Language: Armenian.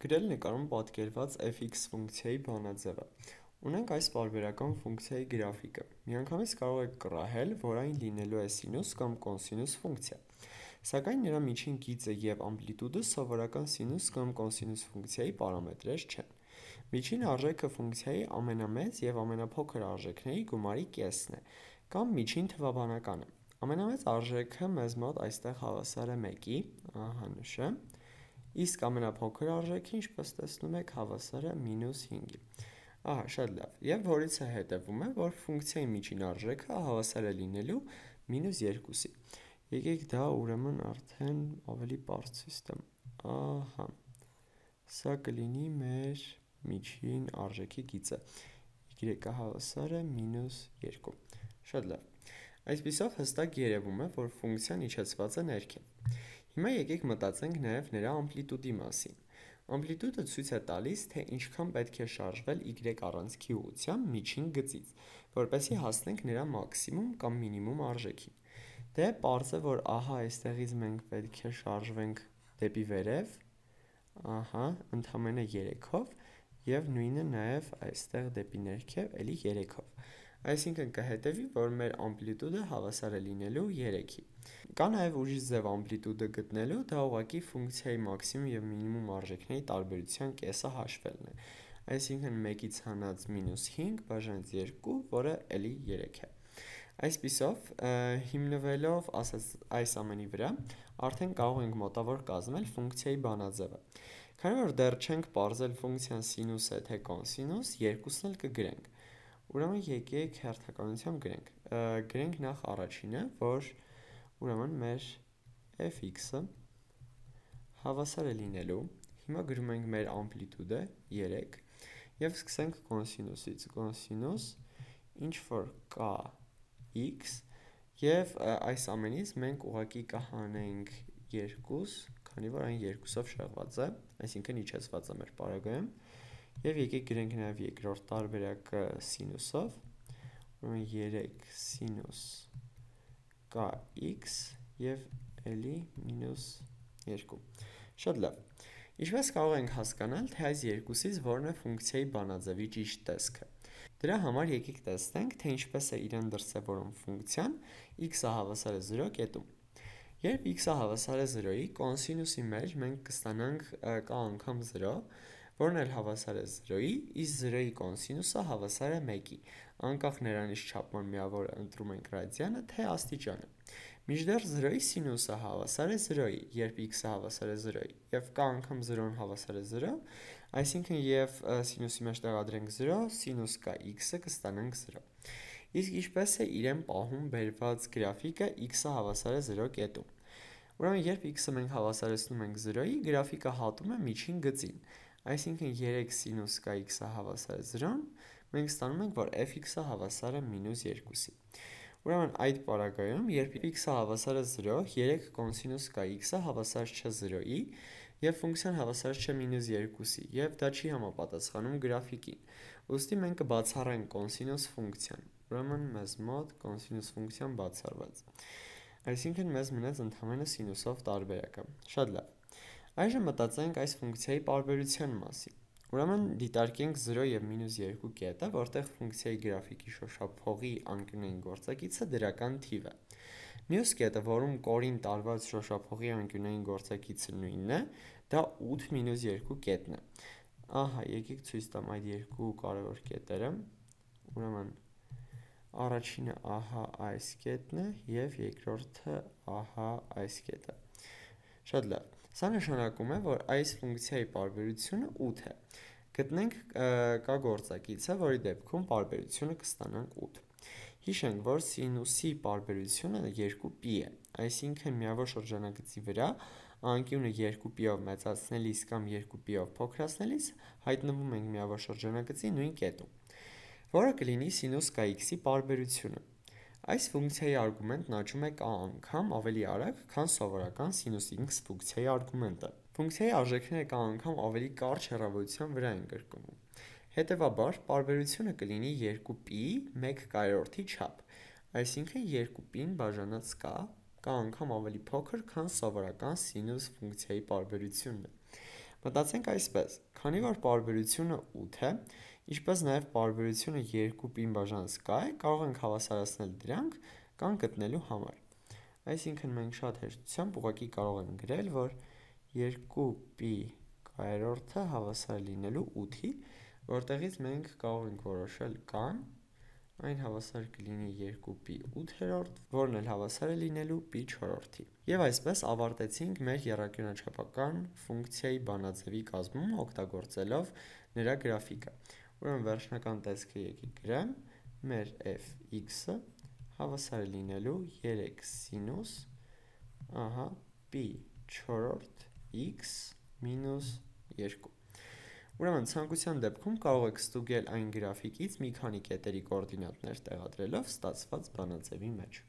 Գրել նկարում պատկերված fx ֆունկցիայի բանաձևը։ Ունենք այս պարբերական ֆունկցիայի գրաֆիկը։ Միանգամից կարող եք կռահել, որ այն լինելու է սինուս կամ կոսինուս ֆունկցիա։ Սակայն նրա միջին գիծը և ամպլիտուդը սովորական սինուս կամ կոսինուս ֆունկցիայի պարամետրեր չեն։ Միջին արժեքը ֆունկցիայի ամենամեծ և ամենափոքր արժեքների գումարի կեսն է, կամ միջին թվաբանականը։ Ամենամեծ արժեքը մեզ մոտ այստեղ հավասար է 1-ի, ահա նշը, իսկ ամենափոքր արժեքը, ինչպես տեսնում եք, հավասար է -5-ի։ Ահա, շատ լավ։ Եվ որից է հետևում է, որ ֆունկցիայի միջին արժեքը հավասար է լինելու -2-ի։ Եկեք դա ուրեմն արդեն ավելի պարզ ցույց տամ։ Ահա, սա կլինի մեր միջին արժեքի գիծը, y-ը հավասար է -2։ Շատ լավ։ Այսպիսով հստակ երևում է, որ ֆունկցիան իջեցված է ներքև։ Հիմա եկեք մտածենք նաև նրա ամպլիտուդի մասին։ Ամպլիտուդը ցույց է տալիս, թե ինչքան պետք է շարժվել y առանցքի ուղղությամբ միջին գծից, որպեսզի հասնենք նրա մաքսիմում կամ մինիմում արժեքին։ Դե պարզ է, որ ահա այստեղից մենք պետք է շարժվենք դեպի վերև, ահա, ընդամենը 3-ով, և նույնը նաև այստեղ դեպի ներքև, էլի 3-ով։ Այսինքն կհետևի, որ մեր ամպլիտուդը հավասար է լինելու 3-ի։ Կա նաև ուրիշ ձև ամպլիտուդը գտնելու, դա ուղղակի ֆունկցիայի մաքսիմում և մինիմում արժեքների տարբերության կեսը հաշվելն է։ Այսինքն 1-ից հանած -5 բաժանից 2, որը էլի 3 է։ Այսպիսով, հիմնվելով այս ամենի վրա, արդեն կարող ենք մոտավոր կազմել ֆունկցիայի բանաձևը։ Քանի որ դեռ չենք պարզել ֆունկցիան սինուս է թե կոսինուս, երկուսն էլ կգրենք։ Ուրեմն եկեք հերթականությամբ գրենք։ Գրենք նախ առաջինը, որ ուրեմն մեր fx-ը հավասար է լինելու, հիմա գրում ենք մեր ամպլիտուդը 3 և սկսենք կոսինուսից, կոսինուս ինչ որ կա x և այս ամենից մենք ուղղակի կհանենք 2, քանի որ այն 2-ով շեղված է, այսինքն իջեցված է մեր պարագայում, և եկեք գրենք նաև երկրորդ տարբերակը սինուսով, ուրեմն 3 սինուս կա x և էլի -2։ Շատ լավ։ Ինչպես կարող ենք հասկանալ, թե այս երկուսից որն է ֆունկցիայի բանաձևի ճիշտ տեսքը։ Դրա համար եկեք տեսնենք, թե ինչպես է իրեն դրսևորում ֆունկցիան x-ը հավասար է 0 կետում։ Երբ x-ը հավասար է 0-ի, կոսինուսի մեջ մենք կստանանք կա անգամ 0, որն էլ հավասար է 0-ի, իսկ 0-ի կոսինուսը հավասար է 1-ի, անկախ նրանից չափման միավորը ընտրում ենք ռադիանը, թե աստիճանը։ Մինչդեռ 0-ի սինուսը հավասար է 0-ի, երբ x-ը հավասար է 0-ի, և կա անգամ 0-ն հավասար է 0, այսինքն և սինուսի մեջ տեղադրենք 0, սինուս կա x-ը կստանանք 0։ Իսկ ինչպես է իրեն պահում բերված գրաֆիկը x-ը հավասար է 0 կետում։ Ուրեմն երբ x-ը մենք հավասարեցնում ենք 0-ի, գրաֆիկը հատում է միջին գծին, այսինքն 3 սինուս կա x-ը հավասար է 0-ն, մենք ստանում ենք, որ fx-ը հավասար է -2-ի։ Ուրեմն այդ պարագայում, երբ x-ը հավասար է 0, 3 կոսինուս կա x-ը հավասար չէ 0-ի, և ֆունկցիան հավասար չէ -2-ի, և դա չի համապատասխանում գրաֆիկին։ Ուստի մենք կբացառենք կոսինուս ֆունկցիան, ուրեմն մեզ մոտ կոսինուս ֆունկցիան բացառված։ Այսինքն մեզ մնաց ընդամենը սինուսով տարբերակը։ Շատ լավ։ Այժմ մտածենք այս ֆունկցիայի պարբերության մասին։ Ուրեմն դիտարկենք 0 և -2 կետը, որտեղ ֆունկցիայի գրաֆիկի շոշափողի անկյունային գործակիցը դրական թիվ է։ Մյուս կետը, որում կորին տարված շոշափողի անկյունային գործակիցը նույնն է, դա 8 - 2 կետն է։ Ահա, եկեք ցույց տամ այդ երկու կարևոր կետերը։ Ուրեմն առաջինը ահա այս կետն է և երկրորդը ահա այս կետը։ Շատ լավ։ Սա նշանակում է, որ այս ֆունկցիայի պարբերությունը 8 է։ Գտնենք կա գործակիցը, որի դեպքում պարբերությունը կստանանք 8։ Հիշենք, որ սինուսի պարբերությունը 2π է, այսինքն միավոր շրջանագծի վրա անկյունը 2π-ով մեծացնելիս կամ 2π-ով փոքրացնելիս հայտնվում ենք միավոր շրջանագծի նույն կետում, որը կլինի սինուս կա x-ի պարբերությունը։ Այս ֆունկցիայի արգումենտն աճում է k անգամ ավելի արագ, քան սովորական sinus x ֆունկցիայի արգումենտը։ Ֆունկցիայի արժեքները k անգամ ավելի կարճ հեռավորության վրա են կրկնվում։ Հետևաբար, պարբերությունը կլինի 2π 1/4-ի չափ, այսինքն 2π-ն բաժանած k անգամ ավելի փոքր, քան սովորական sinus ֆունկցիայի պարբերությունն է։ Մտածենք այսպես. քանի որ պարբերությունը 8 է, ինչպես նաև պարբերությունը 2π բաժանած k է, կարող ենք հավասարացնել դրանք կան գտնելու համար։ Այսինքն մենք շատ հեշտությամբ ուղղակի կարող ենք գրել, որ 2π կայերորդը հավասար լինելու 8-ի, որտեղից մենք կարող ենք որոշել կան, այն հավասար կլինի 2π 8-րդ, որն էլ հավասար է լինելու π 4-ի։ Եվ այսպես ավարտեցինք մեր եռանկյունաչափական ֆունկցիայի բանաձևի կազմումը օգտագործելով նրա գրաֆիկը։ Ուրեմն վերջնական տեսքը եկեք գրեմ, մեր fx-ը հավասար է լինելու 3 սինուս, π 4 x մինուս 2։ Ուրեմն ցանկության դեպքում կարող եք ստուգել այն գրաֆիկից մի քանի կետերի կոորդինատներ տեղադրելով ստացված բանաձևի մեջ։